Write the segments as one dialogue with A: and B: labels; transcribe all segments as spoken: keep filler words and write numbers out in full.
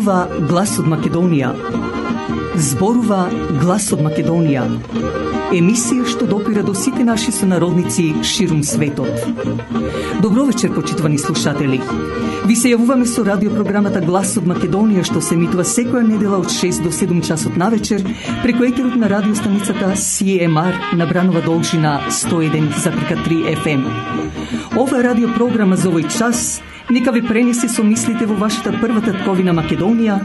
A: Зборува глас од Македонија. Зборува глас од Македонија. Емисија што допира до сите наши сонародници ширум светот. Добро вечер, почитувани слушатели. Ви се јавуваме со радиопрограмата Глас од Македонија, што се емитува секоја недела од шест до седум часот навечер преку етерот на радиостаницата Си Ем Ар на Бранова должина сто еден запирка три Еф Ем. Ова радиопрограма за овој час нека ве пренесе со мислите во вашата прва татковина Македонија,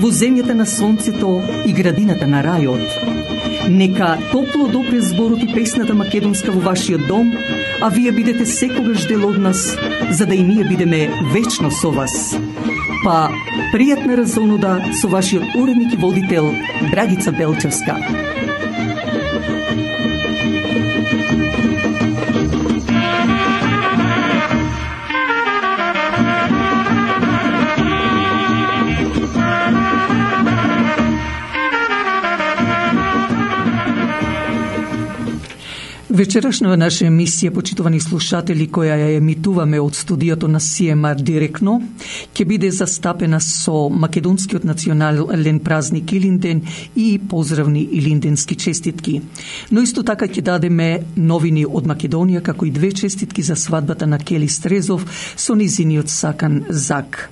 A: во земјата на сонцето и градината на рајот. Нека топло допре зборот и песната македонска во вашиот дом, а вие бидете секогаш дел од нас, за да и ние бидеме вечно со вас. Па, пријатна разонуда со вашиот уредник и водител Драгица Белчевска. Вечерашна наша емисија, почитувани слушатели, која ја емитуваме од студиото на Си Ем Ар директно, ќе биде застапена со македонскиот национален празник Илинден и поздравни илинденски честитки. Но исто така ќе дадеме новини од Македонија, како и две честитки за свадбата на Кели Стрезов со низиниот сакан Зак.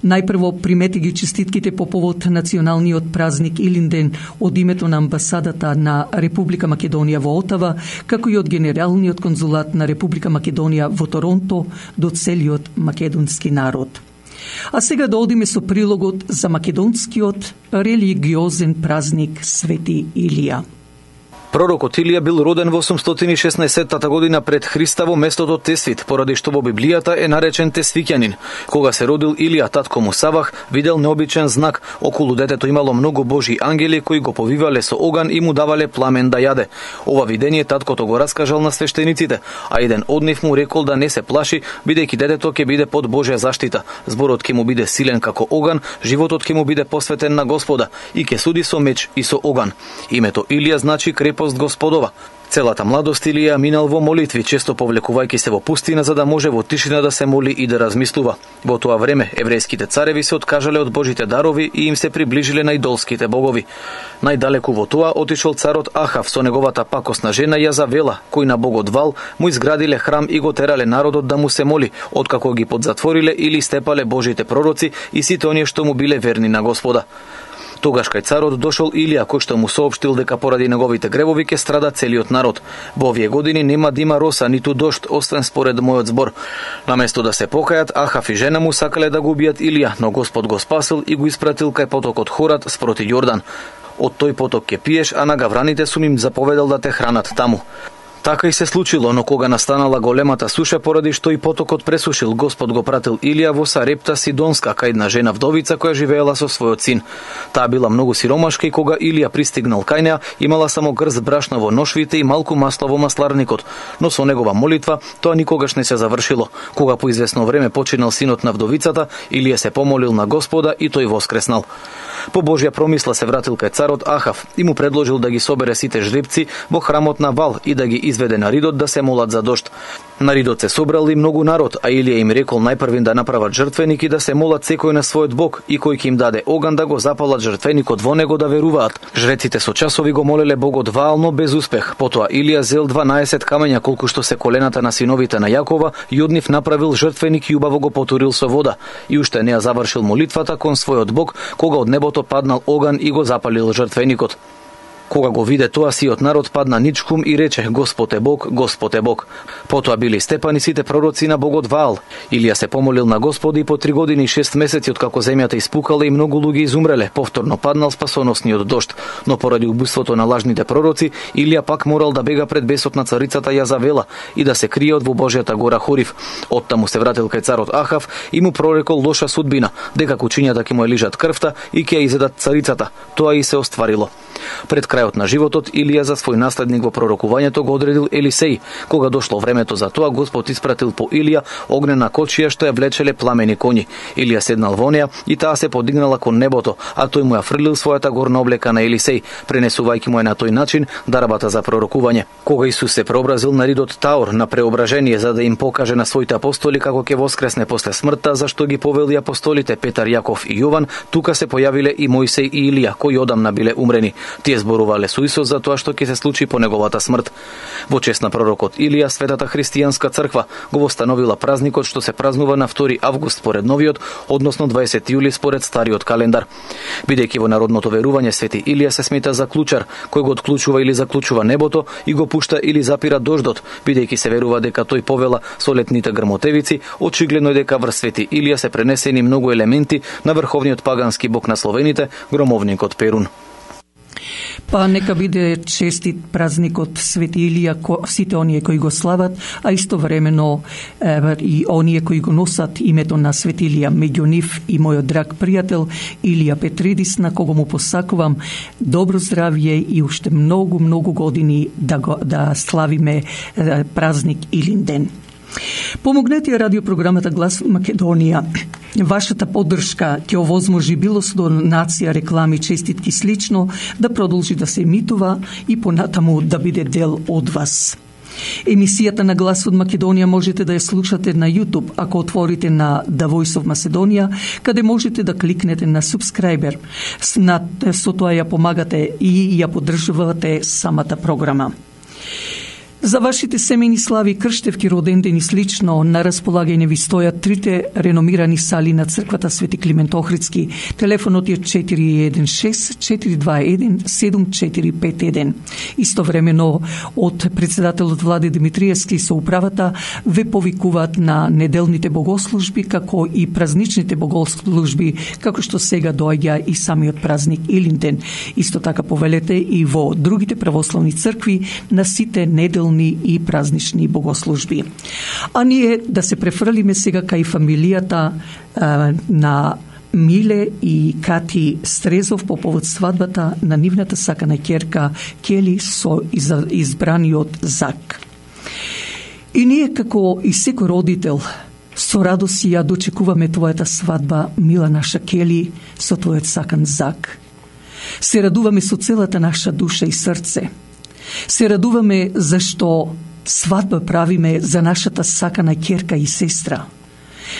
A: Најпрво примете ги честитките по повод националниот празник Илинден од името на амбасадата на Република Македонија во Отава, како и од Генералниот конзулат на Република Македонија во Торонто до целиот македонски народ. А сега да одиме со прилогот за македонскиот религиозен празник Свети Илија.
B: Пророкот Илија бил роден во осумстотини и шеснаесеттата година пред Христа во местото Тесвит, поради што во Библијата е наречен Тесвиќанин. Кога се родил Илија, татко му Савах видел необичен знак. Околу детето имало многу божи ангели кои го повивале со оган и му давале пламен да јаде. Ова видение таткото го раскажал на свештениците, а еден од нив му рекол да не се плаши, бидејќи детето ќе биде под Божја заштита. Зборот ќе му биде силен како оган, животот ќе му биде посветен на Господа и ќе суди со меч и со оган. Името Илија значи крепост Господова. Целата младост Илија минал во молитви, често повлекувајќи се во пустина за да може во тишина да се моли и да размислува. Во тоа време еврејските цареви се откажале од Божите дарови и им се приближиле на идолските богови. Најдалеку во тоа отишол царот Ахав со неговата пакосна жена Јазавела, кој на богот Вал му изградиле храм и го терале народот да му се моли, откако ги подзатвориле или степале Божите пророци и сите оние што му биле верни на Господа. Тогаш кај царот дошол Илија, кој што му соопштил дека поради неговите гревови ќе страда целиот народ. Во овие години нема да има роса ниту дожд, освен според мојот збор. Наместо да се покајат, Ахав и жена му сакале да го убијат Илија, но Господ го спасил и го испратил кај потокот Хорат спроти Јордан. Од тој поток ќе пиеш, а на гавраните сум им заповедал да те хранат таму. Така и се случило, но кога настанала големата суша поради што и потокот пресушил, Господ го пратил Илија во Сарепта Сидонска, кај една жена вдовица која живеела со својот син. Таа била многу сиромашка и кога Илија пристигнал кај неа, имала само грст брашно во ношвите и малку масло во масларникот, но со негова молитва тоа никогаш не се завршило. Кога по известно време починал синот на вдовицата, Илија се помолил на Господа и тој воскреснал. По Божја промисла се вратил кај царот Ахав и му предложил да ги собере сите жребци во храмот на Вал и да ги изведе на ридот да се молат за дожд. На ридот се собрал и многу народ, а Илија им рекол најпрвин да направат жртвеник и да се молат секој на својот бог и кој ќе им даде оган да го запалат жртвеникот во него да веруваат. Жреците со часови го молеле богот Ваал, но без успех. Потоа Илија зел дванаесет камења колку што се колената на синовите на Јакова и од нив направил жртвеник и убаво го потурил со вода. И уште не ја завршил молитвата кон својот бог, кога од небото паднал оган и го запалил жртвеникот. Кога го виде тоа, сиот народ падна ничкум и рече: Господ е Бог, Господ е Бог. Потоа били степани сите пророци на богот Ваал. Илија се помолил на Господа и по три години и шест месеци откако земјата испукала и многу луѓе изумреле, повторно паднал спасоносниот дожд. Но поради убиството на лажните пророци, Илија пак морал да бега пред бесот на царицата Јазавела и да се крие од во Божјата гора Хорив. Оттаму се вратил кај царот Ахав и му прорекол лоша судбина, дека кучињата ќе му ја лижат крвта и ќе ја изедат царицата. Тоа и се остварило. Пред крајот на животот Илија за свој наследник во пророкувањето го одредил Елисеј. Кога дошло времето за тоа, Господ испратил по Илија огнена кочија што ја влечеле пламени коњи. Илија седнал во неа и таа се подигнала кон небото, а тој му ја фрлил својата горна облека на Елисеј, пренесувајќи му ја на тој начин дарбата за пророкување. Кога Исус се преобразил на ридот Таор на преображение за да им покаже на своите апостоли како ќе воскресне после смртта, зашто ги повели апостолите Петар, Јаков и Јован, тука се појавиле и Мојсей и Илија, кои одамна биле умрени. Тие зборувале со Исус за тоа што ќе се случи по неговата смрт. Во чест на пророкот Илија, Светата христијанска црква го востановила празникот што се празнува на втори август според новиот, односно дваесети јули според стариот календар. Бидејќи во народното верување Свети Илија се смета за клучар, кој го отклучува или заклучува небото и го пушта или запира дождот, бидејќи се верува дека тој повела со летните грмотевици, очигледно е дека врз Свети Илија се пренесени многу елементи на врховниот пагански бог на словените, громовникот Перун.
A: Па нека биде честит празникот Свети Илија сите оние кои го слават, а истовремено е, и оние кои го носат името на Свети Илија. Меѓу нив и мојот драг пријател Илија Петридис, на кого му посакувам добро здравје и уште многу, многу години да, го, да славиме е, празник Илинден. Помогнете ја радиопрограмата Глас Македонија. Вашата поддршка ќе овозможи било со донација, реклами, честитки слично да продолжи да се емитува и понатаму да биде дел од вас. Емисијата на Глас од Македонија можете да ја слушате на YouTube ако отворите на The Voice of Macedonia, каде можете да кликнете на subscriber. Со тоа ја помагате и ја поддржувате самата програма. За вашите семејни слави, крштевки, родендени слично, на располагање ви стојат трите реномирани сали на црквата Свети Климент Охридски. Телефонот е четири еден шест четири два еден седум четири пет еден. Истовремено од председателот Влади Димитриевски со управата ве повикуваат на неделните богослужби, како и празничните богослужби, како што сега доаѓа и самиот празник Илинден. Исто така повелете и во другите православни цркви на сите неделни и празнични богослужби. А ние да се префрлиме сега кај фамилијата а, на Миле и Кати Стрезов по повод свадбата на нивната сакана ќерка Кели со избраниот Зак. И ние како и секој родител со радост ја дочекуваме твојата свадба, мила наша Кели, со твојот сакан Зак. Се радуваме со целата наша душа и срце. Се радуваме зашто свадба правиме за нашата сакана ќерка и сестра.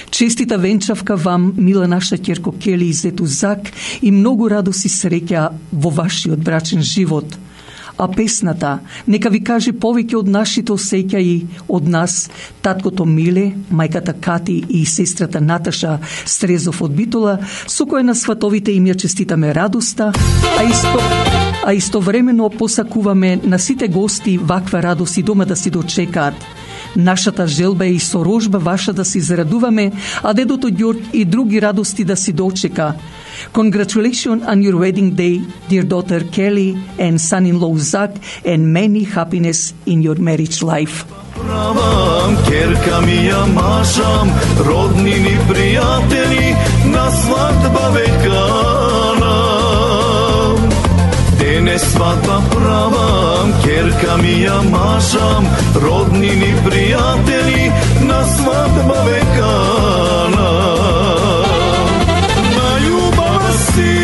A: Честита венчавка вам, мила наша ќерко Кели и зету Зак, и многу радост и среќа во вашиот брачен живот. А песната нека ви каже повеќе од нашите осеќаи, од нас, таткото Миле, мајката Кати и сестрата Наташа Стрезов од Битола, со која на сватовите им ја честитаме радоста, а исто а истовремено посакуваме на сите гости ваква радост и дома да си дочекаат. Нашата желба е и сорожба ваша да се зарадуваме, а дедото Ѓорѓ и други радости да си дочека. Congratulations on your wedding day, dear daughter Kelly and son-in-law Zach, and many happiness in your marriage life.
C: Правам, керка ми ја машам, роднини пријатели, на свадба векана. Денес свадба правам, керка ми ја машам, роднини пријатели, на свадба векана. На љубава си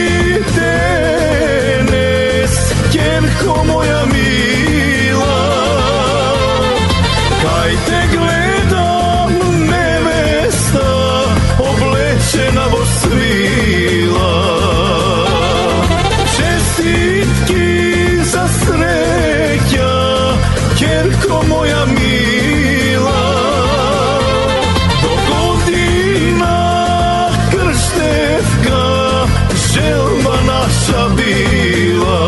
C: денес, керко моја мила, кај те гледам невеста, облечена во свила. Честитки за среќа, ќерко моја мила, до година крштевка, желба наша била.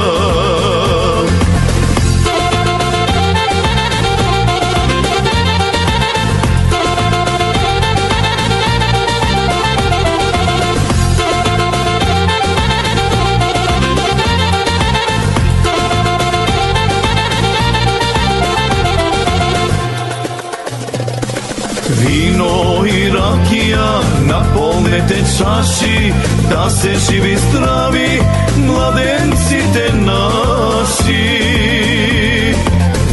C: Вино и ракија, наполнете чаши, да се живи здрави младенците наши. наши.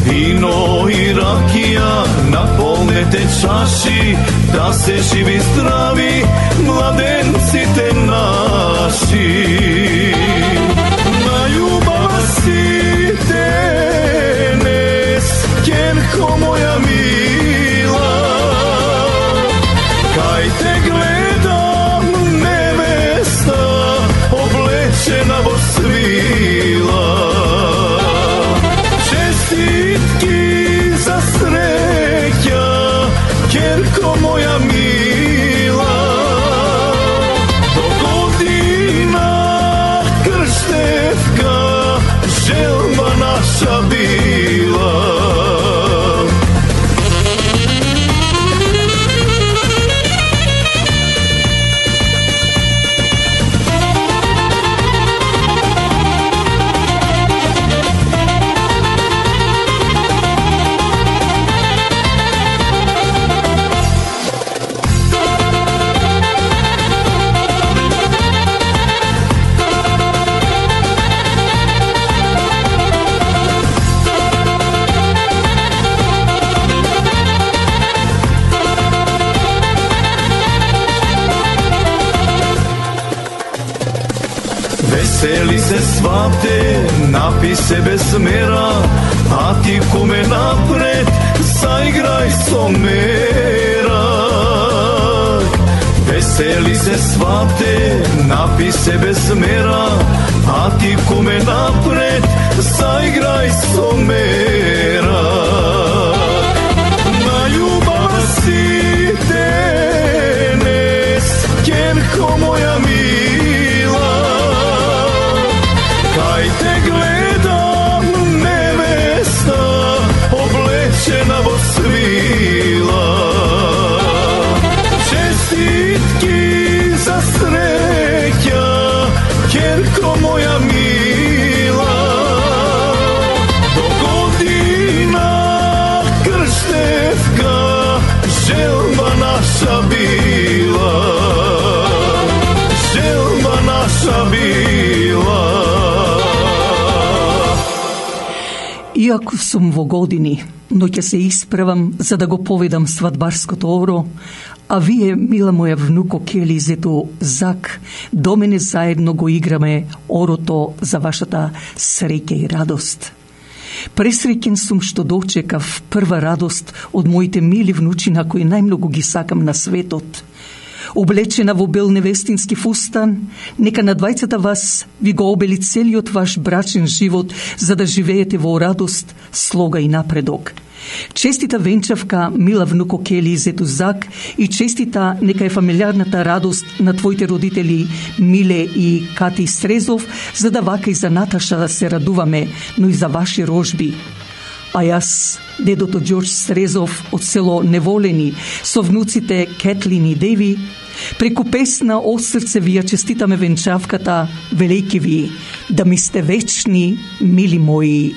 C: Вино и ракија, наполнете чаши, да се живи здрави младенците наши. На љубава си денес, ќерко моја мила, кај те гледам невеста, облечена во свила. Честитки за среќа, ќерко моја мила, до година крштевка, желба наша била. Весели се свате, напи се без мера, а ти куме напред, заиграј со мера. Весели се свате, напи се без мера, а ти куме напред, заиграј со мера. На љубава си денес, ќерко моја мила, кај те гледам невеста, облечена во свила. Честитки за среќа, ќерко моја мила, до година крштевка, желба наша била. Желба наша била.
A: Иако сум во години, но ќе се исправам за да го поведам свадбарското оро, а вие, мила моја внуко Кели Зето Зак, до мене заедно го играме орото за вашата среќа и радост. Пресреќен сум што дочекав прва радост од моите мили внучина кои најмногу ги сакам на светот. Облечена во бел невестински фустан, нека на двајцата вас ви го обели целиот ваш брачен живот, за да живеете во радост, слога и напредок. Честита венчавка, мила внуко Кели Зето Зак, и честита нека е фамилиарната радост на твоите родители Миле и Кати Стрезов, за да вака и за Наташа да се радуваме, но и за ваши рожби. А јас, дедото Ѓорđ Стрезов од село Неволени, со внуците Кетлин и Деви, преку песна од срце ви ја честитаме венчавката, велејки ви да ми сте вечни, мили мои.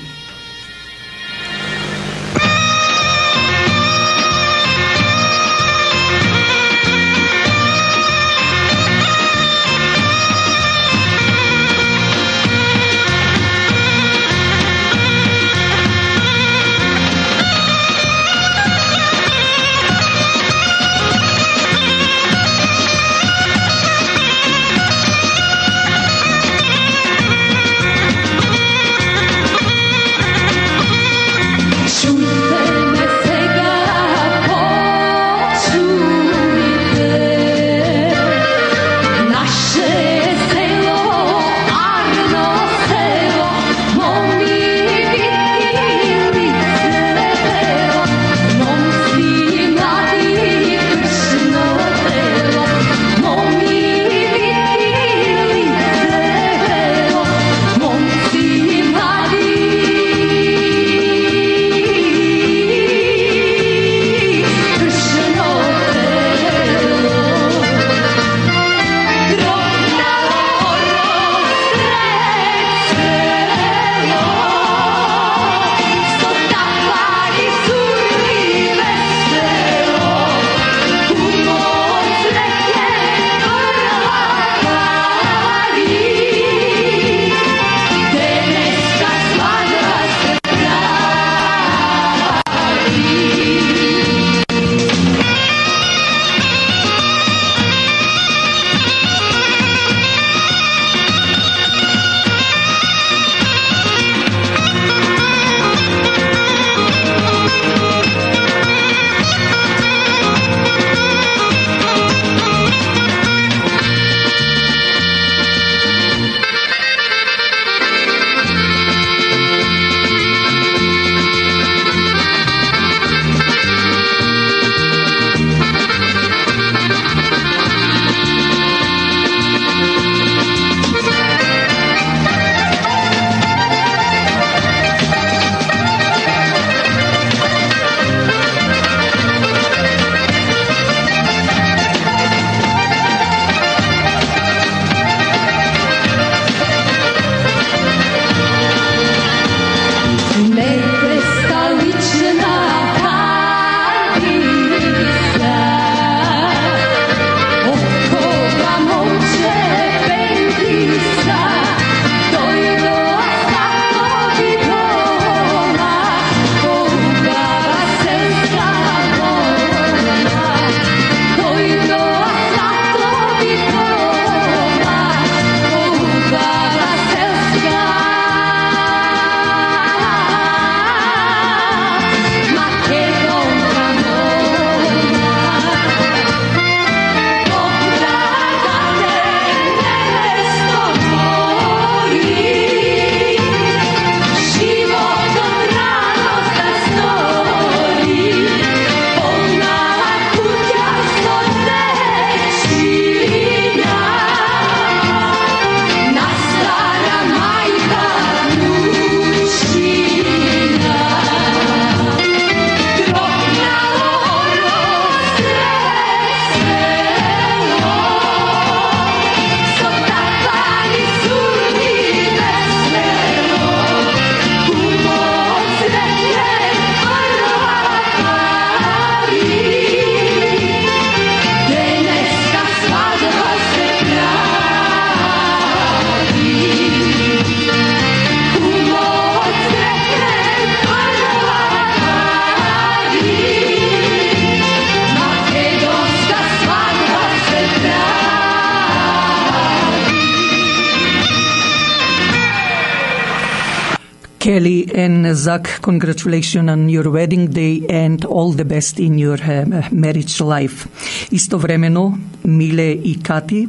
A: Kelly and Zach, congratulations on your wedding day and all the best in your uh, marriage life. Истовремено, Миле и Кати,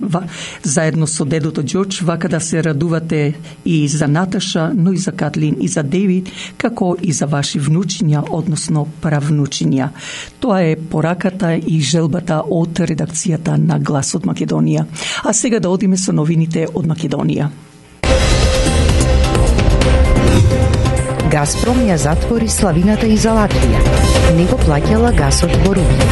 A: заедно со дедото Џорџ, вака да се радувате и за Наташа, но и за Катлин и за Девид, како и за ваши внучиња, односно правнучиња. Тоа е пораката и желбата од редакцијата на Глас од Македонија. А сега да одиме со новините од Македонија.
D: Газпром ја затвори славината и за Латвија. Не го плаќала гасот во руки.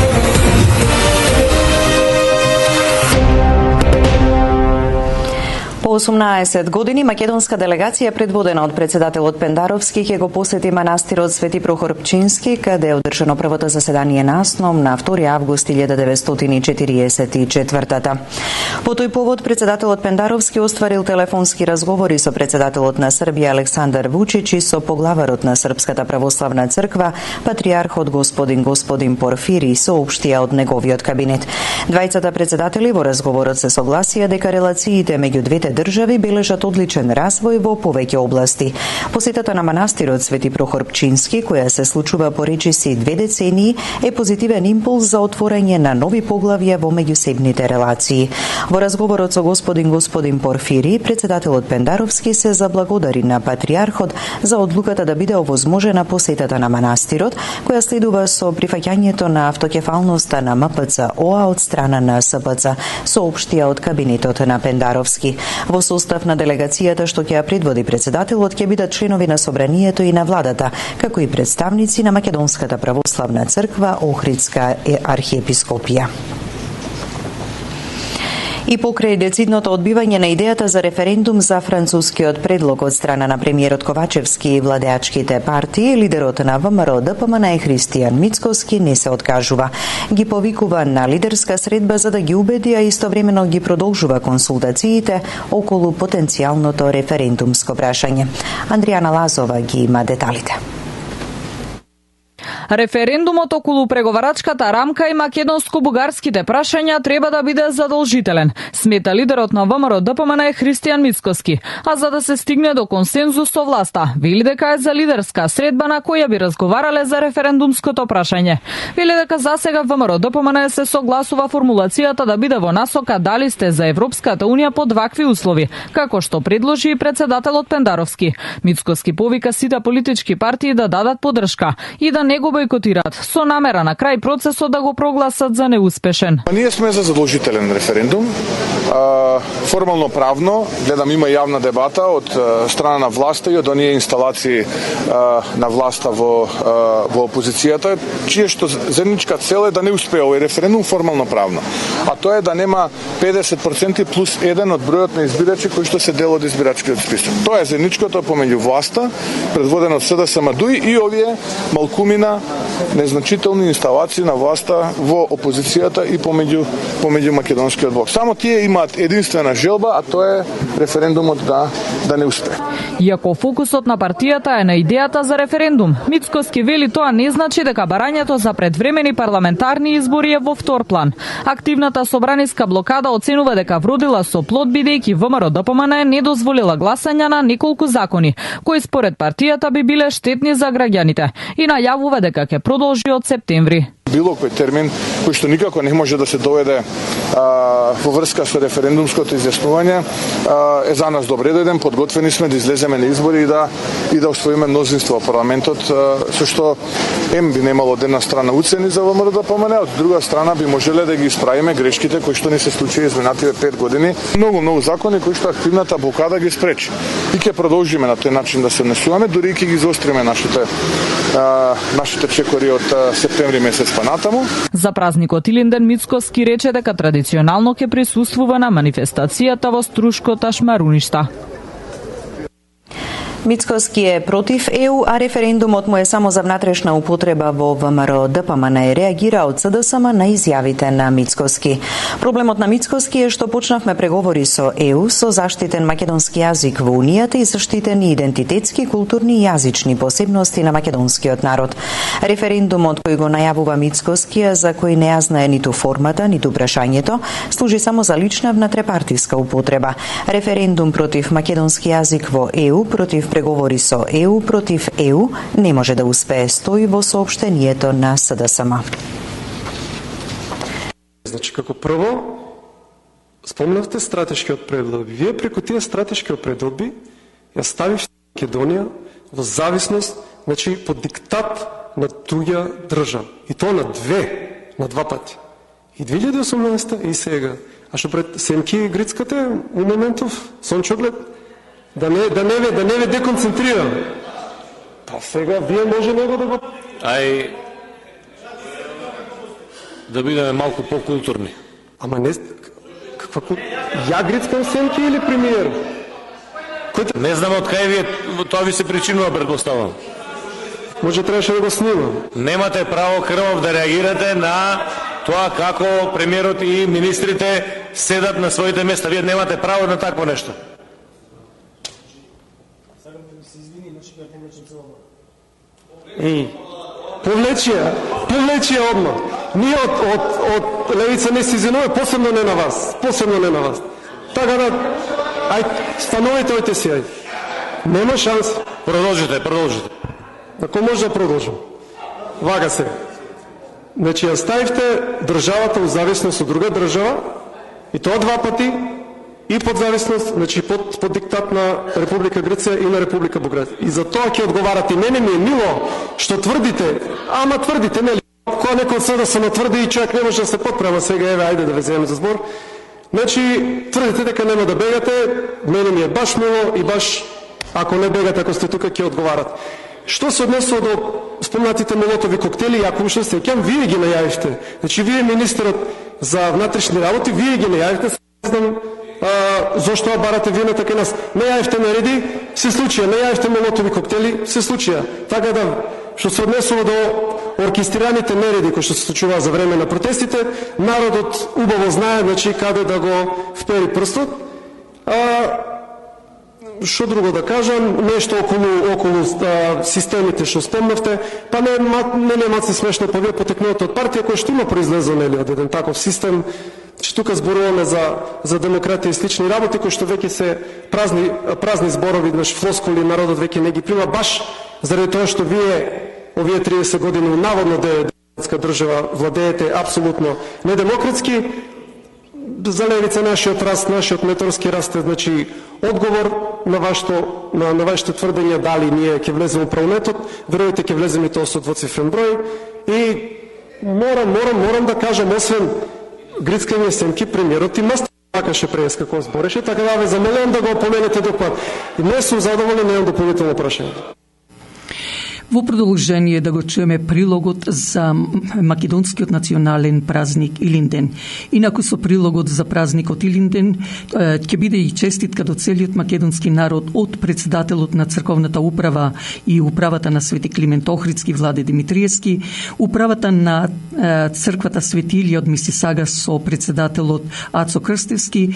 E: По осумнаесет години македонска делегација предводена од председателот Пендаровски ќе го посети манастирот Свети Прохор Пчински, каде е одржано првото заседание на АСНОМ на втори август илјада деветстотини и четириесет и четвртата. По тој повод председателот Пендаровски остварил телефонски разговори со председателот на Србија Александар Вучич и со поглаварот на Српската православна црква патриархот господин господин Порфири, соопштија од неговиот кабинет. Двајцата председатели во разговорот се согласија дека релациите меѓу двете држави бележат одличен развој во повеќе области. Посетата на манастирот Свети Прохор Пчински, која се случува по речиси две децении, е позитивен импулс за отворање на нови поглавја во меѓусебните релации. Во разговорот со господин господин Порфири, председателот Пендаровски се заблагодари на патриархот за одлуката да биде овозможена посетата на манастирот, која следува со прифаќањето на автокефалноста на МПЦ-ОА од страна на СПЦ, соопштија од кабинетот на Пендаровски. Во состав на делегацијата што ќе ја предводи председателот ќе бидат членови на собранието и на владата, како и представници на Македонската православна црква Охридска архиепископија. И покрај децидното одбивање на идејата за референдум за францускиот предлог од страна на премиерот Ковачевски и владеачките партии, лидерот на ВМРО Д П М Н Христијан Мицкоски не се откажува. Ги повикува на лидерска средба за да ги убеди, а истовремено ги продолжува консултациите околу потенцијалното референдумско прашање. Андријана Лазова ги има деталите.
F: Референдумот околу преговарачката рамка и македонско-бугарските прашања треба да биде задолжителен, смета лидерот на ВМРО Д П М Н Христијан Мицкоски, а за да се стигне до консензус со власта, вели дека е за лидерска средба на која би разговарале за референдумското прашање. Вели дека засега ВМРО Д П М Н се согласува формулацијата да биде во насока дали сте за Европската унија под вакви услови, како што предложи и председателот Пендаровски. Мицкоски повика сите политички партии да дадат поддршка и да не го бойкотираат, со намера на крај процесот да го прогласат за неуспешен.
G: Ние сме за задолжителен референдум. Формално правно, гледам има јавна дебата од страна на власта и од оние инсталации на власта во во опозицијата, чие што заедничка цел е да не успее овој референдум формално правно. А тоа е да нема педесет проценти плюс еден од бројот на избирачи кои што се дел од избирачкиот список. Тоа е заедничкото помеѓу власта, предводена од С Д С М Д и овие малкумина незначителни инсталации на власта во опозицијата и помеѓу помеѓу македонскиот блок. Само тие имаат единствена желба, а тоа е референдумот да да не успее.
F: Иако фокусот на партијата е на идејата за референдум, Мицкоски вели тоа не значи дека барањето за предвремени парламентарни избори е во втор план. Активната собраниска блокада оценува дека вродила со плод бидејќи ВМРО Д П М Н не дозволила гласање на неколку закони, кои според партијата би биле штетни за граѓаните, и најавува дека ќе продолжи од септември.
G: Било кој термин кој што никако не може да се доведе а, во врска со референдумското изјаснување а, е за нас добре дојден, подготвени сме да излеземе на избори и да и да освоиме мнозинство во парламентот, а, со што ем би немало од една страна уцени за ВМРО Д П М Н, од друга страна би можеле да ги исправиме грешките кои што ни се случија изминативе пет години. Многу многу закони кои што активната блокада ги спречи. И ќе продолжиме на тој начин да се внесуваме, дури и ќе ги заостриме нашите а, нашите чекори од а, септември месец па натаму.
F: За празникот Илинден Мицкоски рече дека традиционално ќе присуствува на манифестацијата во Струшкота Шмаруништа.
E: Мицкоски е против Е У, а референдумот му е само за внатрешна употреба во ВМРО Д П М Н, реагира од С Д С М на изјавите на Мицкоски. Проблемот на Мицкоски е што почнавме преговори со Е У со заштитен македонски јазик во Унијата и заштитени идентитетски, културни и јазични посебности на македонскиот народ. Референдумот кој го најавува Мицкоски, за кој не ја знае ниту формата, ниту прашањето, служи само за лична внатрепартиска употреба. Референдум против македонски јазик во Е У, против преговори со Е У против Е У не може да успее, стои во соопштението на С Д С М.
H: Значи, како прво, спомнавте стратешкиот предлог. Вие преку тие стратешки предлоги ја ставивте Македонија во зависност, значи под диктат на туѓа држава. И тоа на две, на два пати. И две илјади и осумнаесета и сега. А што пред Семки Грицкате у моментов сончоглед да не да не да не ве деконцентрира. Па сега вие може него да го
I: Ај да бидеме малку покултурни.
H: Ама не каква ја Грицкам Семки или премиер?
I: Кој... Не знам од кај вие тоа ви се причинува, предпоставам.
H: Може требаше да го снимам.
I: Немате право крвав да реагирате на тоа како премиерот и министрите седат на своите места. Вие немате право на такво нешто.
H: Еј, повлечија, повлечија одма. Ние од, од, од левица не се извинуваме, посебно не на вас. Посебно не на вас. Така да, ај, становите ојте си, ај. Нема шанс.
I: Продолжите, продолжите.
H: Ако може да продолжим. Вага се. Значи, ја ставивте државата у зависност од друга држава, и тоа два пати, и под зависност, значи под, под диктат на Република Грција и на Република Бугарија. И за тоа ќе одговарате. Мене ми е мило што тврдите, ама тврдите, нели? Кога некој се да се натврди и човек не може да се подпрема сега, еве, ајде да ве земеме за збор. Значи, тврдите дека нема да бегате, мене ми е баш мило и баш, ако не бегате, ако сте тука, ќе одговарате. Што се однесува до спомнатите молотови коктели, јако уште се сеќам, вие ги најавивте. Значи, вие министерот за внатрешни работи, вие ги најавивте, не знам а, зошто барате вие на така нас. Најавивте нареди, се случија, најавивте молотови коктели, се случија. Така да, што се однесува до оркестрираните нереди кои што се случува за време на протестите, народот убаво знае, значи, каде да го впери прстот. А, Што друго да кажам, нешто околу, околу а, системите што спомнавте, па не, не нема се смешно, па вие потекнувате од партија која што има произлезла, нели, од еден таков систем, че тука зборуваме за, за демократија и слични работи, кои што веќе се празни, празни зборови, значи флоскули, народот веќе не ги прима, баш заради тоа што вие овие триесет години наводно демократска држава владеете апсолутно недемократски. За левица нашиот раст, нашиот меторски раст е, значи, одговор на вашето, на, на вашите тврдења дали ние ќе влеземе у правнетот, веројате ќе влеземе тоа со двоцифрен број. И морам, морам, морам да кажам, освен Грицкање Семки, премиерот и Мастер сакаше прес како збореше, така да ве замолувам да го опоменете допад. Не сум задоволен, немам дополнително прашање.
A: Во продолжение да го чуеме прилогот за македонскиот национален празник Илинден. Инаку со прилогот за празникот Илинден ќе биде и честитка до целиот македонски народ од председателот на црковната управа и управата на Свети Климент Охридски Владе Димитриевски, управата на црквата Свети Илија од Мисисага со председателот Ацо Крстевски,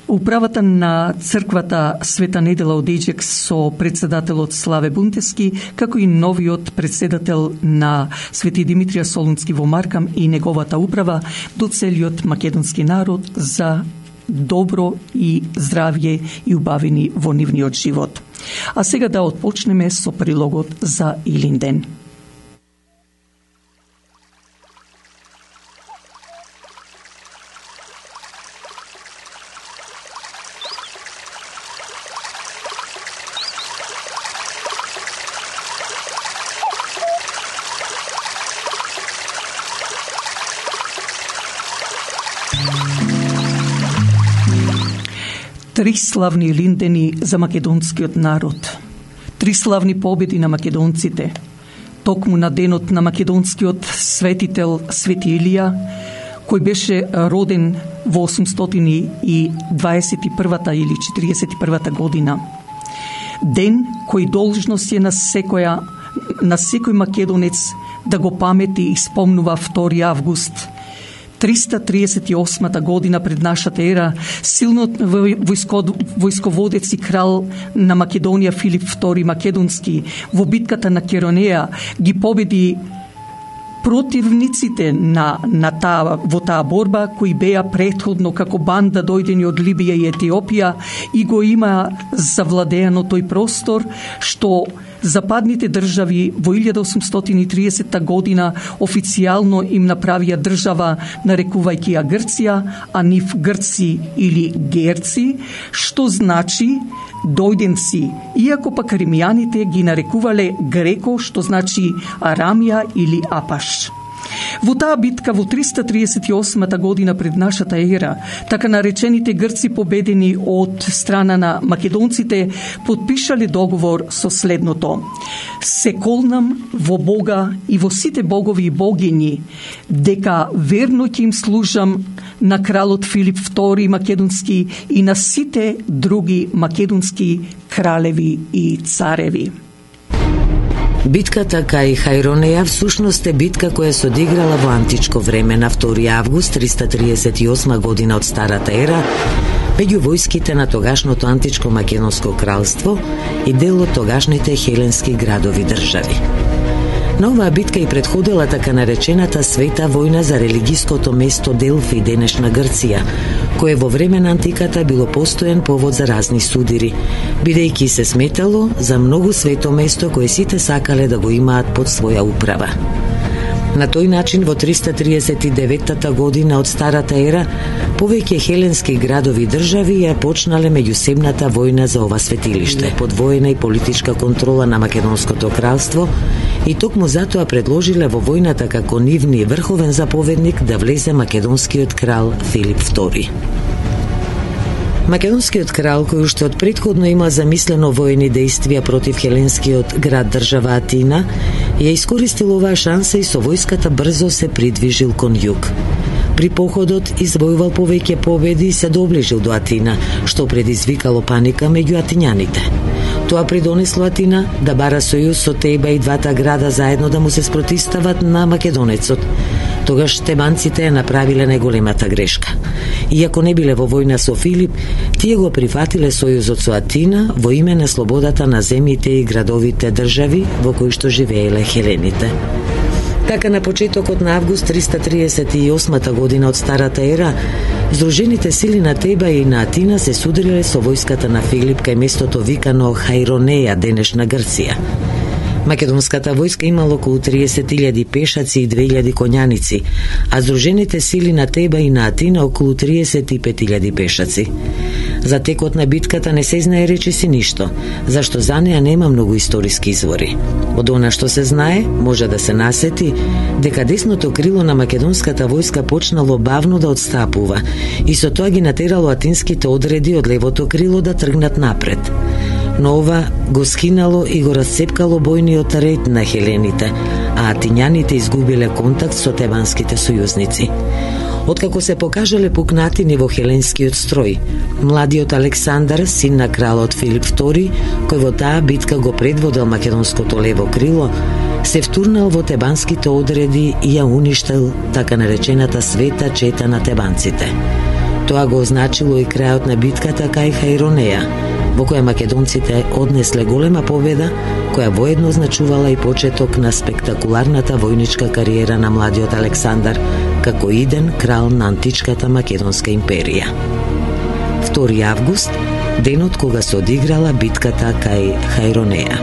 A: управата на црквата Света Недела од Еџек со председателот Славе Бунтевски, како и новиот председател на Свети Димитрија Солунски во Маркам и неговата управа до целиот македонски народ за добро и здравје и убавини во нивниот живот. А сега да отпочнеме со прилогот за Илинден. Три славни Илиндени за македонскиот народ. Три славни победи на македонците. Токму на денот на македонскиот светител Свети Илија, кој беше роден во осумстотини и дваесет и првата или четириесет и првата година. Ден кој должност е на секоја на секој македонец да го памети и спомнува втори август триста триесет и осмата година пред нашата ера, силниот војсководец и крал на Македонија Филип втори Македонски во битката на Керонеја ги победи Противниците на, на таа, во таа борба, кои беа претходно како банда дојдени од Либија и Етиопија и го има завладеано тој простор, што западните држави во илјада осумстотини и тридесетта година официјално им направија држава, нарекувајќи ја Грција, а нив грци или герци, што значи дојденци, иако пак римјаните ги нарекувале греко, што значи Арамија или Апаш. Во таа битка во триста триесет и осма година пред нашата ера, така наречените грци победени од страна на македонците потпишале договор со следното: се колнам во Бога и во сите богови и богињи, дека верно ќе им служам на кралот Филип втори македонски и на сите други македонски кралеви и цареви.
J: Битката кај Хајронеја всушност е битка која се одиграла во античко време на втори август триста триесет и осма година од Старата ера меѓу војските на тогашното античко македонско кралство и дел од тогашните хеленски градови држави. На оваа битка и предходела така наречената света војна за религиското место Делфи, денешна Грција, кое во време на антиката било постоен повод за разни судири, бидејќи се сметало за многу свето место кое сите сакале да го имаат под своја управа. На тој начин во триста триесет и деветта година од Старата ера повеќе хеленски градови и држави ја почнале меѓусебната војна за ова светилиште под воена и политичка контрола на Македонското кралство и токму затоа предложиле во војната како нивни врховен заповедник да влезе македонскиот крал Филип втори. Македонскиот крал, кој уште од претходно има замислено воени дејствија против хеленскиот град држава Атина, ја искористил оваа шанса и со војската брзо се придвижил кон југ. При походот извојувал повеќе победи и се доближил до Атина, што предизвикало паника меѓу атињаните. Тоа придонесло Атина да бара сојуз со Теба и двата града заедно да му се спротистават на македонецот. Тогаш тебанците ја направиле најголемата грешка. Иако не биле во војна со Филип, тие го прифатиле сојузот со Атина во име на слободата на земјите и градовите држави во кои што живееле хелените. Така на почетокот на август триста триесет и осма година од Старата ера, Здружените сили на Теба и на Атина се судриле со војската на Филип кај местото викано Хајронеја, денешна Грција. Македонската војска имала околу триесет илјади пешаци и две илјади коњаници, а Здружените сили на Теба и на Атина околу триесет и пет илјади пешаци. За текот на битката не се знае речиси ништо, зашто за неа нема многу историски извори. Од она што се знае, може да се насети дека десното крило на македонската војска почнало бавно да отстапува и со тоа ги натерало атинските одреди од левото крило да тргнат напред. Но ова го скинало и го расцепкало бојниот ред на хелените, а атињаните изгубиле контакт со тебанските сојузници. Откако се покажале пукнатини во хеленскиот строј, младиот Александар, син на кралот Филип втори, кој во таа битка го предводел македонското лево крило, се втурнал во тебанските одреди и ја уништил така наречената света чета на тебанците. Тоа го означило и крајот на битката кај Хајронеја, во која македонците однесле голема победа, која воедно означувала и почеток на спектакуларната војничка кариера на младиот Александар, како иден крал на античката македонска империја. втори август, денот кога се одиграла битката кај Хајронеја.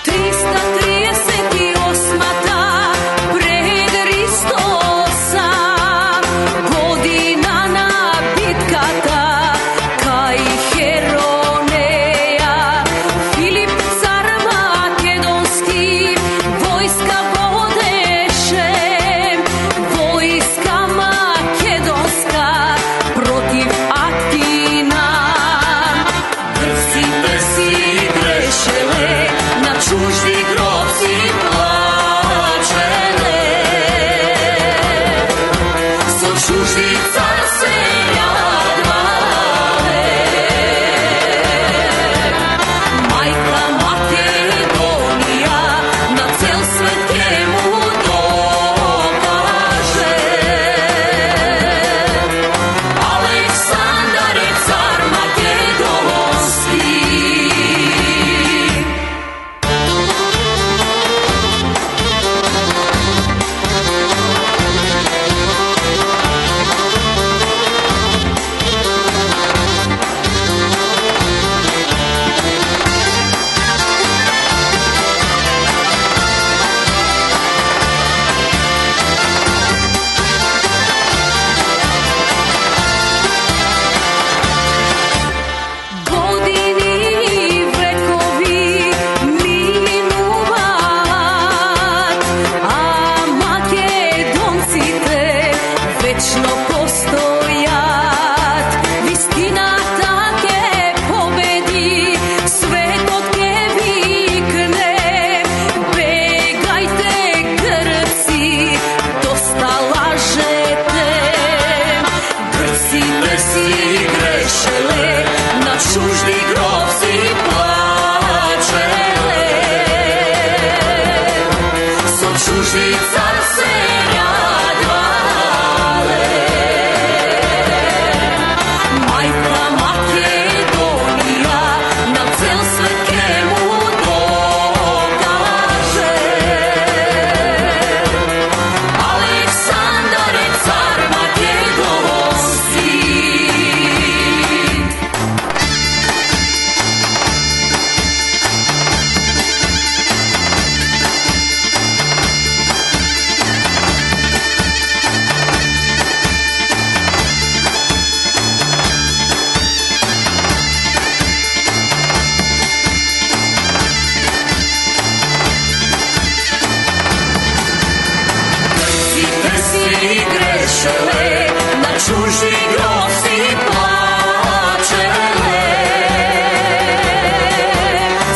K: Ти чужди цар се радвале. Мајка Македонија на цел свет ке му докаже. Александар е цар македонски. На чужди грози плачеле,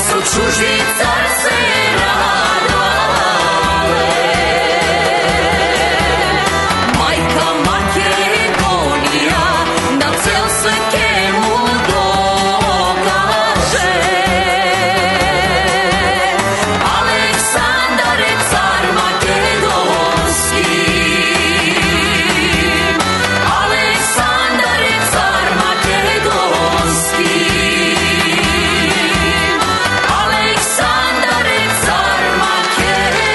K: со чужди цар се радвале. Мајка Македонија на цел свет ке му докаже. Александар е цар македонски. Александар е цар македонски. Александар е цар македонски.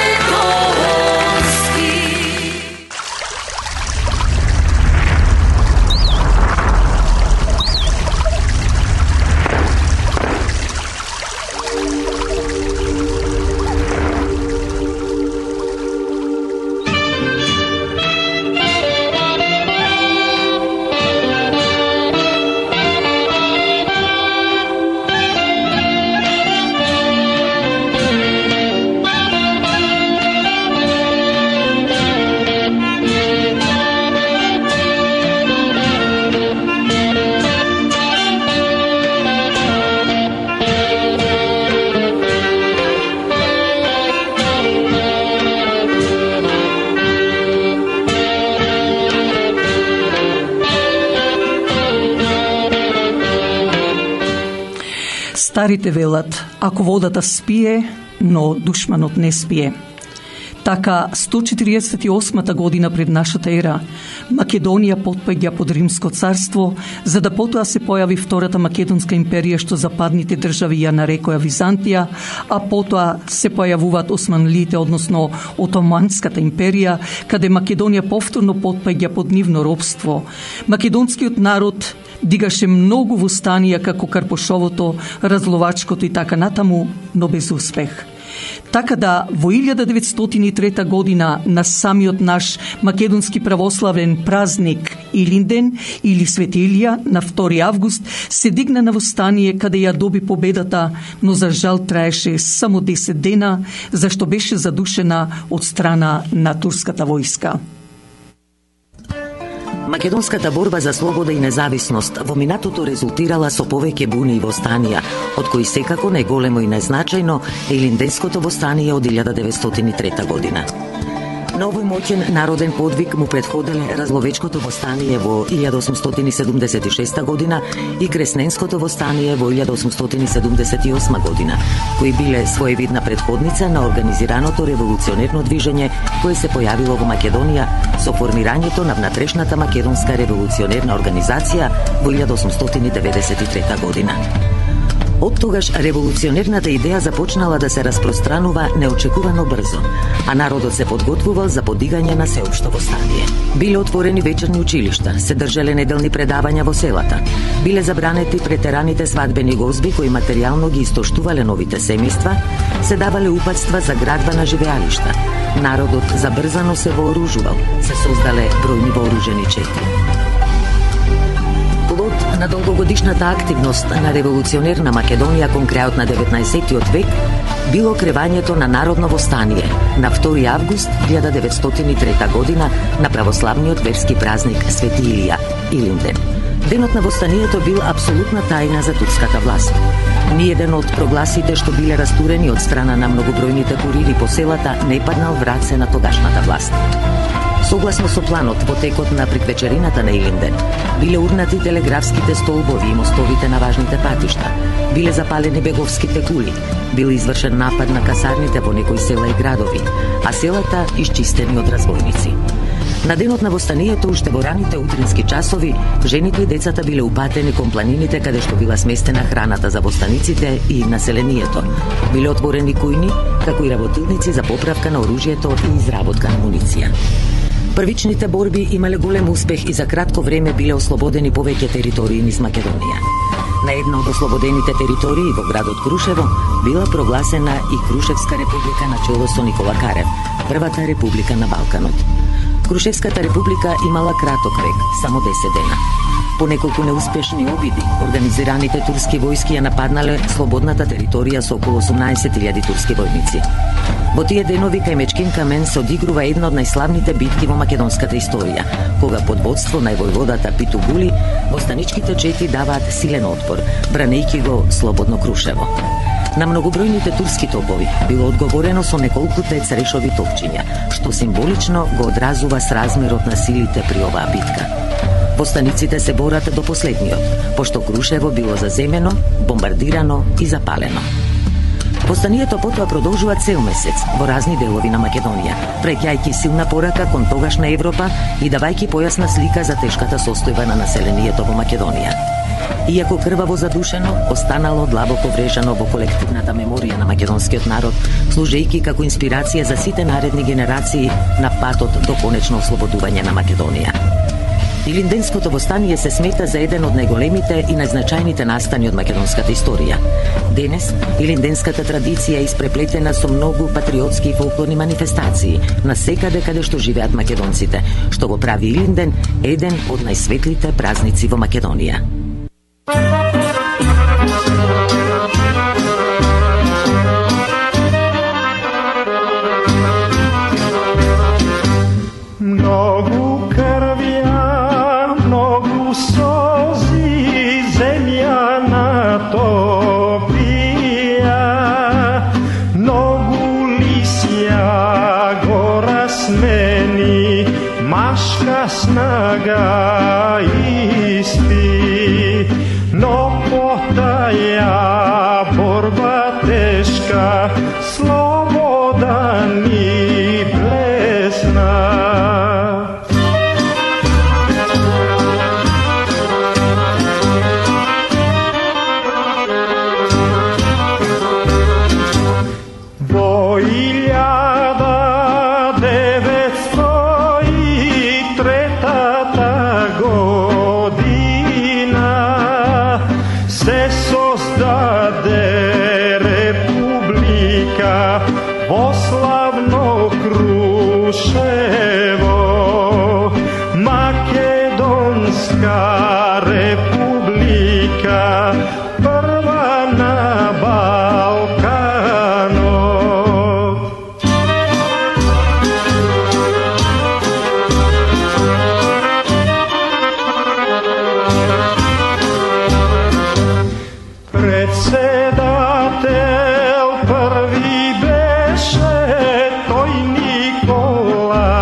A: Старите велат, ако водата спие, но душманот не спие. Така, сто четириесет и осма година пред нашата ера, Македонија потпаѓа под Римско царство, за да потоа се појави Втората Македонска империја, што западните држави ја нарекоја Византија, а потоа се појавуваат османлиите, односно Отоманската империја, каде Македонија повторно потпаѓа под нивно робство. Македонскиот народ дигаше многу востанија како Карпошовото, Разловачкото и така натаму, но без успех. Така да, во илјада деветстотини и трета година на самиот наш македонски православен празник Илинден или Свети Илија на втори август се дигна на востание каде ја доби победата, но за жал траеше само десет дена, зашто беше задушена од страна на турската војска.
J: Македонската борба за слобода и независност во минатото резултирала со повеќе буни и востанија, од кои секако најголемо и најзначајно е Илинденското востание од илјада деветстотини и трета година. На овој моќен народен подвиг му предходеле Разловечкото востание во илјада осумстотини седумдесет и шеста година и Кресненското востание во илјада осумстотини седумдесет и осма година, кои биле своевидна предходница на организираното револуционерно движење кое се појавило во Македонија со формирањето на внатрешната македонска револуционерна организација во илјада осумстотини деветдесет и трета година. Од тогаш револуционерната идеја започнала да се распространува неочекувано брзо, а народот се подготвувал за подигање на сеопшто востание. Биле отворени вечерни училишта, се држале неделни предавања во селата, биле забранети претераните свадбени гозби кои материјално ги истоштувале новите семејства, се давале упатства за градба на живеалишта. Народот забрзано се вооружувал, се создале бројни вооружени чети. На долгогодишната активност на револуционерна Македонија кон крајот на деветнаесеттиот век било кревањето на народно востание на втори август илјада деветстотини и трета година на православниот верски празник Свети Илија, Илинден. Денот на востанието бил апсолутна тајна за турската власт. Ниеден од прогласите што биле растурени од страна на многобројните курири по селата не паднал враце на тогашната власт. Согласно со планот, во текот на приквечерината на Илинден, биле урнати телеграфските столбови и мостовите на важните патишта, биле запалени беговските кули, бил извршен напад на касарните во некои села и градови, а селата исчистени од разбойници. На денот на востанието, уште во раните утрински часови, жените и децата биле упатени кон планините каде што била сместена храната за востаниците и населението. Биле отворени кујни, како и работилници за поправка на оружјето и изработка на муниција. Првичните борби имале голем успех и за кратко време биле ослободени повеќе територии низ Македонија. На една од ослободените територии во градот Крушево била прогласена и Крушевска република на чело со Никола Карев, првата република на Балканот. Крушевската република имала краток век, само десет дена. По неколку неуспешни обиди, организираните турски војски ја нападнале слободната територија со околу осумнаесет илјади турски војници. Во тие денови кај Мечкин камен се одигрува една од најславните битки во македонската историја, кога под водство на војводата Питу Гули, востаничките чети даваат силен отпор, бранејќи го слободно Крушево. На многобројните турски топови било одговорено со неколкуте црешови топчиња, што символично го одразува сразмерот на силите при оваа битка. Востаниците се борат до последниот, пошто Крушево било заземено, бомбардирано и запалено. Востанието потоа продолжува цел месец во разни делови на Македонија, преќајќи силна порака кон тогашна Европа и давајќи појасна слика за тешката состојба на населението во Македонија. Иако крваво задушено, останало длабоко врежано во колективната меморија на македонскиот народ, служејќи како инспирација за сите наредни генерации на патот до конечно ослободување на Македонија. Илинденското востание се смета за еден од најголемите и најзначајните настани од македонската историја. Денес, илинденската традиција е испреплетена со многу патриотски и фолклорни манифестации на секаде каде што живеат македонците, што го прави Илинден еден од најсветлите празници во Македонија.
L: Многу крвја, многу солзи, земја натопија, многу лисја го размени, машка снага испи, но потаја борба тешка, слобода ни блесна. Во илјада деветсто и третата година се создаде република во славно Крушево, Македонска република, прва на Балканот. Председател први беше тој Никола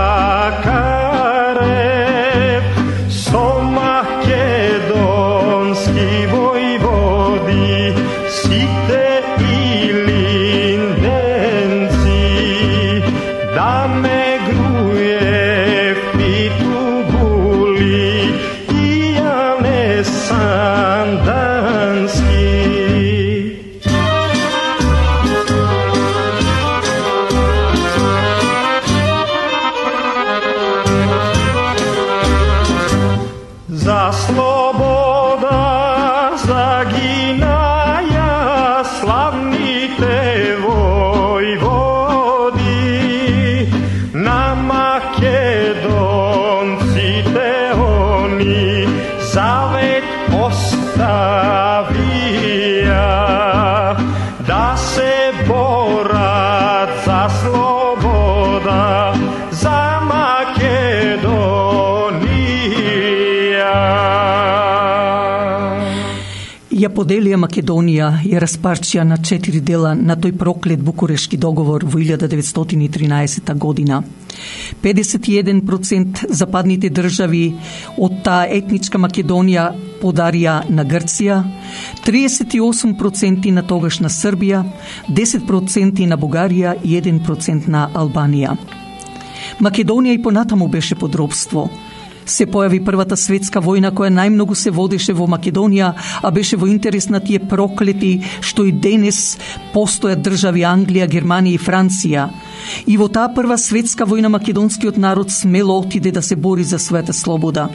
A: поделија Македонија, ја распарчија на четири дела на тој проклет Букурешки договор во илјада деветстотини и тринаесета година. педесет и еден процент западните држави од таа етничка Македонија подарија на Грција, триесет и осум проценти на тогашна Србија, десет проценти на Бугарија и еден процент на Албанија. Македонија и понатаму беше под робство. Се појави првата светска војна која најмногу се водеше во Македонија, а беше во интерес на тие проклети што и денес постојат држави Англија, Германија и Франција. И во таа прва светска војна македонскиот народ смело отиде да се бори за својата слобода.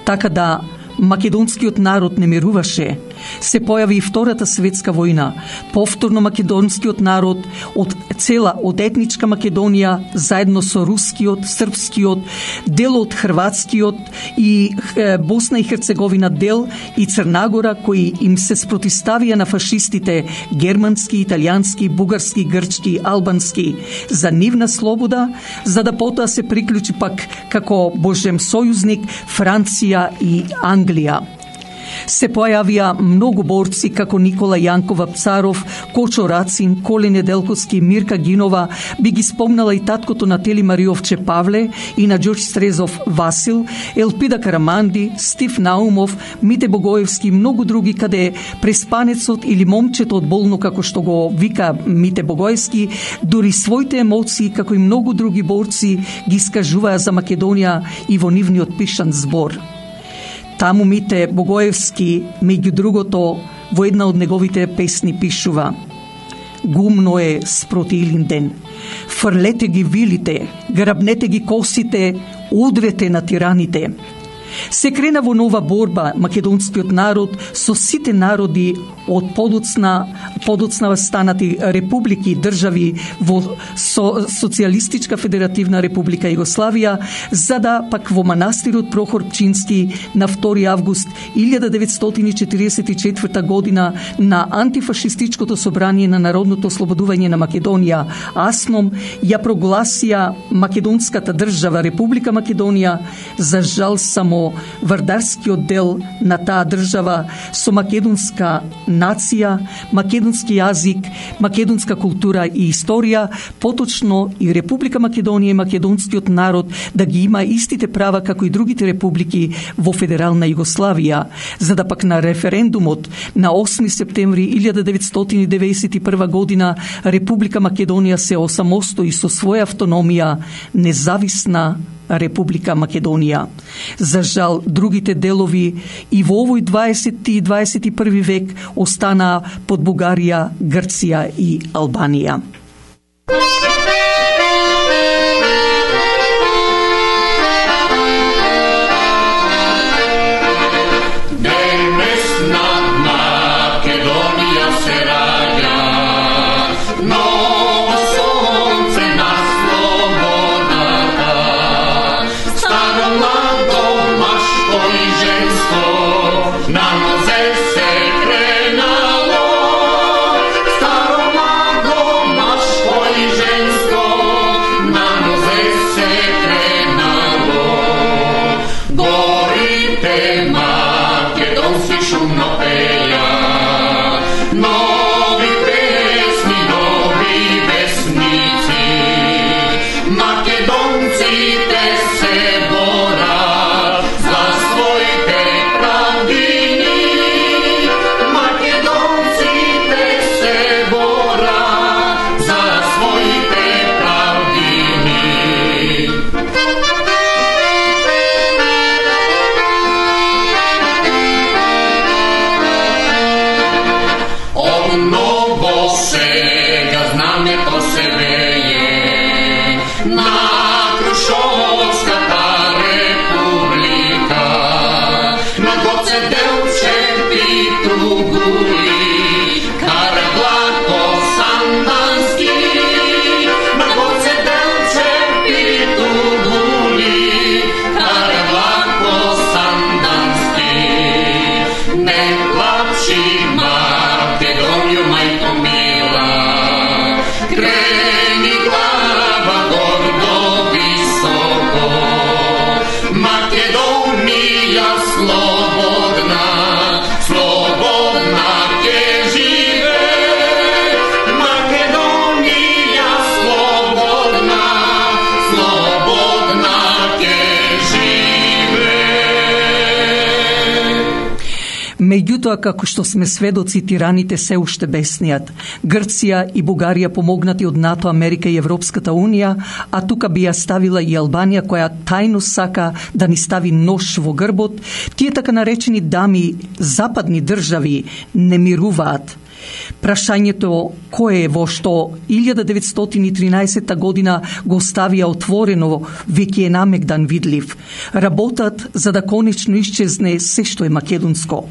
A: Така да македонскиот народ не мируваше. Се појави и Втората светска војна. Повторно македонскиот народ од цела од етничка Македонија заедно со рускиот, српскиот, дел од хрватскиот и е, Босна и Херцеговина дел и Црнагора кои им се спротиставија на фашистите германски, италијански, бугарски, грчки, албански за нивна слобода, за да потоа се приклучи пак како божем сојузник Франција и Англија. Се појавија многу борци како Никола Јанков Апцаров, Кочо Рацин, Коле Неделковски, Мирка Гинова, би ги спомнала и таткото на Тели Мариовче Павле и на Ѓорѓ Стрезов Васил, Елпида Караманди, Стив Наумов, Мите Богоевски и многу други, каде преспанецот или момчето од болно, како што го вика Мите Богоевски, дури своите емоции, како и многу други борци, ги искажуваа за Македонија и во нивниот пишан збор. Таму Мите Богоевски, меѓу другото, во една од неговите песни пишува: Гумно е спроти Илинден, фрлете ги вилите, грабнете ги косите, удрете на тираните. Се крена во нова борба македонскиот народ со сите народи од подоцна, подоцна станати републики, држави во со, Социјалистичка федеративна република Југославија, за да пак во манастирот Прохор Пчински на втори август илјада деветстотини четиридесет и четврта година на антифашистичкото собрание на Народното ослободување на Македонија АСНОМ ја прогласија македонската држава Република Македонија. За жал само вардарскиот дел на таа држава со македонска нација, македонски јазик, македонска култура и историја, поточно и Република Македонија и македонскиот народ да ги има истите права како и другите републики во Федерална Југославија, за да пак на референдумот на осми септември илјада деветстотини деветдесет и прва година Република Македонија се осамостои со своја автономија, независна Република Македонија. За жал, другите делови и во овој дваесети и дваесет и први век останаа под Бугарија, Грција и Албанија.
K: Staro mlado, maško i žensko
A: Меѓутоа, како што сме сведоци, тираните се уште бесниат. Грција и Бугарија помогнати од НАТО, Америка и Европската Унија, а тука би ја ставила и Албанија, која тајно сака да ни стави нож во грбот. Тие така наречени дами западни држави не мируваат. Прашањето кое е во што илјада деветстотини и тринаесетта година го оставија отворено, веќе е намегдан видлив. Работат за да конечно исчезне се што е македонско,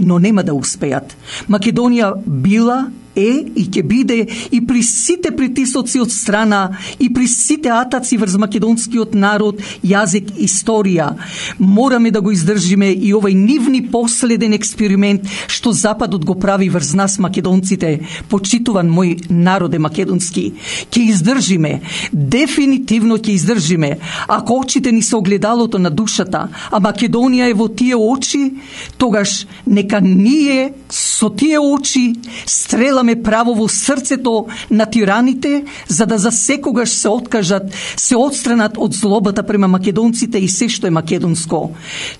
A: но нема да успеат. Македонија била, е и ќе биде и при сите притисоци од страна и при сите атаци врз македонскиот народ, јазик, историја. Мораме да го издржиме и овај нивни последен експеримент што Западот го прави врз нас македонците. Почитуван мој народе македонски, ќе издржиме, дефинитивно ќе издржиме. Ако очите ни се огледалото на душата, а Македонија е во тие очи, тогаш нека ние со тие очи стреламе право во срцето на тираните, за да за секогаш се откажат, се отстранат од злобата према македонците и се што е македонско.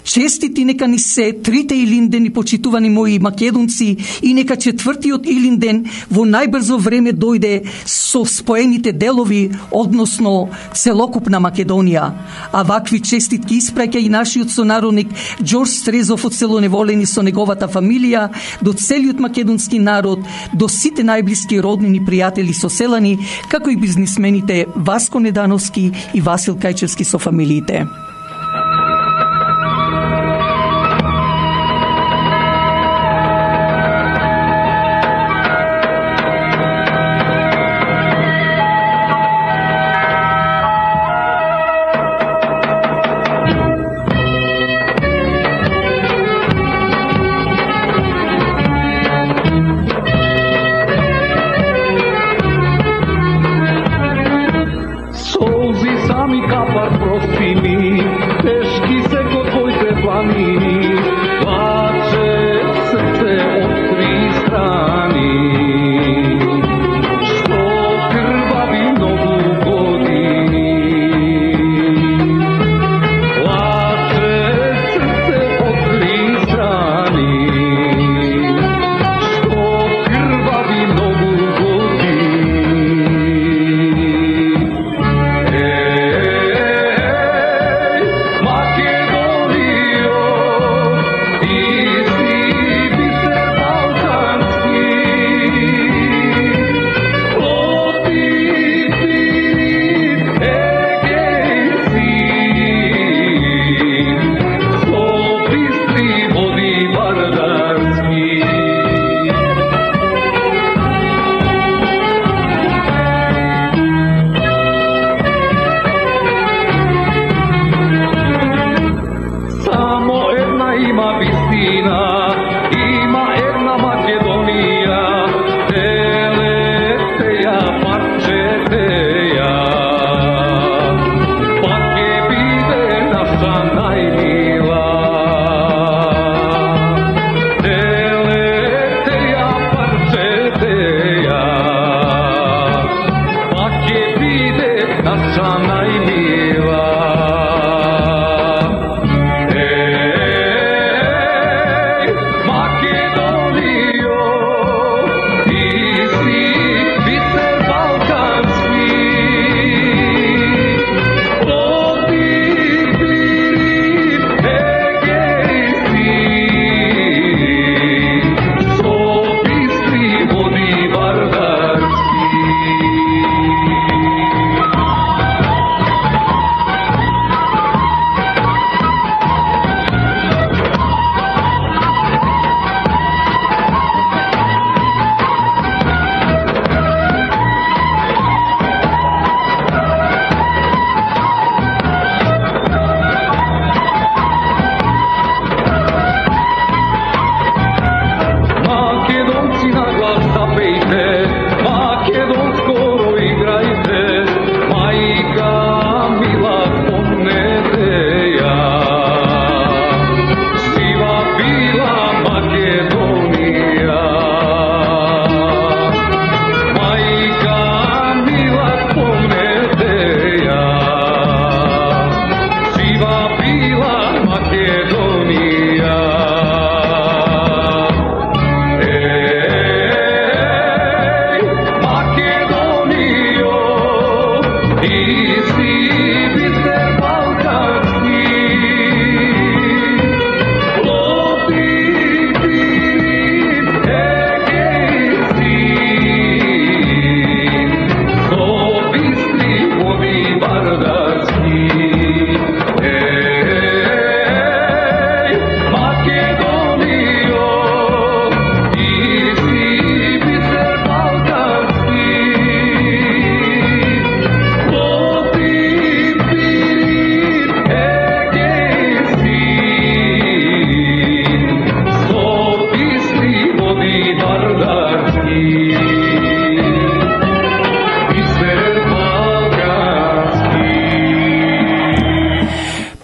A: Честити нека ни се трите Илиндени, почитувани мои македонци, и нека четвртиот Илинден во најбрзо време дојде со споените делови, односно целокупна Македонија. А вакви честитки испраќа и нашиот сонародник Ѓорџ Стрезов од село Неволени со неговата фамилија, до целиот македонски народ, до сите најблиски роднини, пријатели, соселани, како и бизнисмените Васко Недановски и Васил Кајчевски со фамилиите.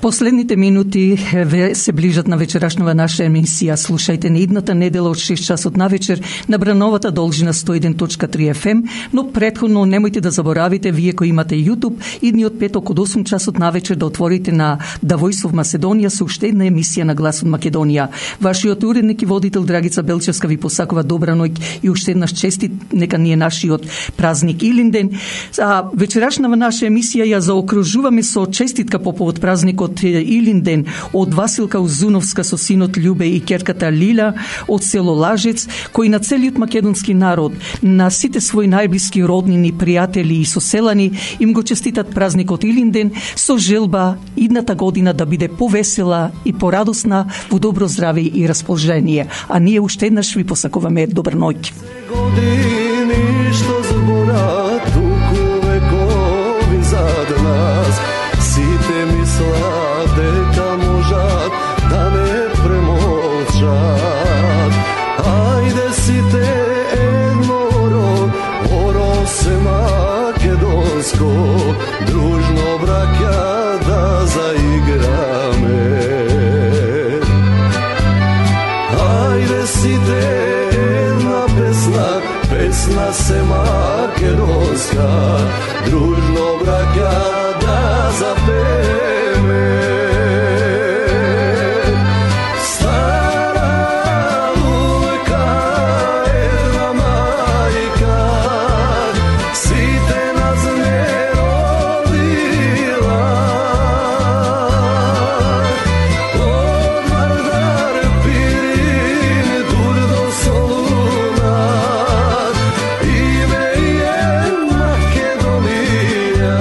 A: Последните минути се ближат на вечерашнава наша емисија. Слушајте на идната недела од шест часот на вечер на брановата должина сто еден точка три еф ем, но претходно немојте да заборавите, вие кои имате YouTube, идниот петок од осум часот на вечер да отворите на The Voice of Macedоnia со уште една емисија на Глас од Македонија. Вашиот уредник и водител Драгица Белчевска ви посакува добра ноќ и уште еднаш честит нека ни е нашиот празник Илинден. А вечерашнава наша емисија ја заокружуваме со честитка по повод празникот Илинден од Василка Узуновска со синот Љубе и ќерката Лила од село Лажец, кои на целиот македонски народ, на сите своји најблиски роднини, пријатели и соселани им го честитат празникот Илинден со желба идната година да биде повесела и порадосна, во добро здраве и расположение. А ние уште еднаш ви посакуваме добра ноќ.
M: Години што збора туку векови зад нас, сите мислат дека можат да не премолчат. Ајде сите едноро, оро се македонско, дружно браќа да заиграме. Ајде сите една песна, песна се македонска, дружно браќа да запеме. Стара лука една мајка, сите нас не родила. Од Вардар Пирин дур до Солуна, име е Македонија.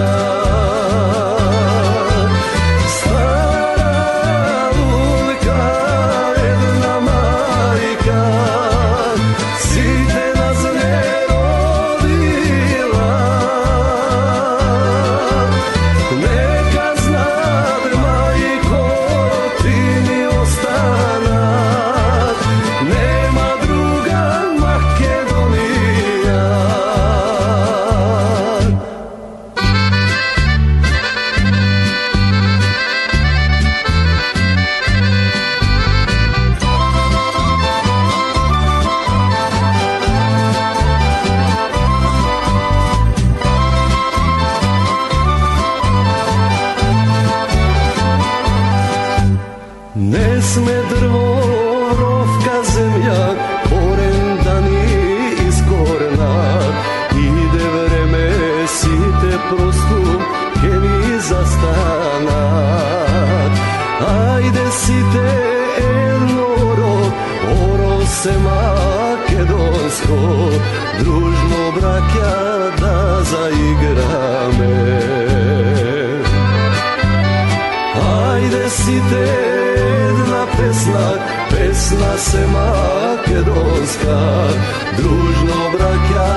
M: Стара лука една мајка, сите нас не родила. Нека знат, мајко, ти ни останат, нема друга Македонија. Не сме дрво, ровка земја, корен да ни искоренат. Иде време, сите просту ке ни застанат. Ајде сите едноро, оро се македонско, дружно браќа да заиграме. Ајде сите една песна, песна се македонска, дружно браќа